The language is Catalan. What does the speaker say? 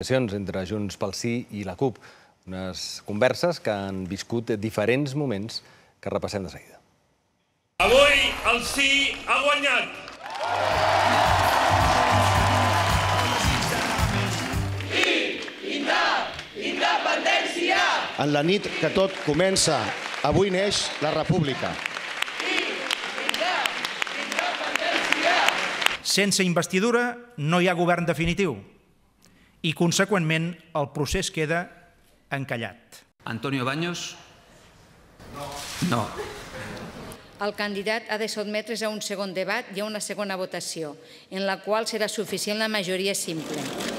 Entre Junts pel Sí i la CUP. Unes converses que han viscut diferents moments que repassem de seguida. Avui el sí ha guanyat. Independència! En la nit que tot comença, avui neix la República. Sense investidura no hi ha govern definitiu i, conseqüentment, el procés queda encallat. Antonio Baños? No. El candidat ha de sotmetre's a un segon debat i a una segona votació, en la qual serà suficient la majoria simple.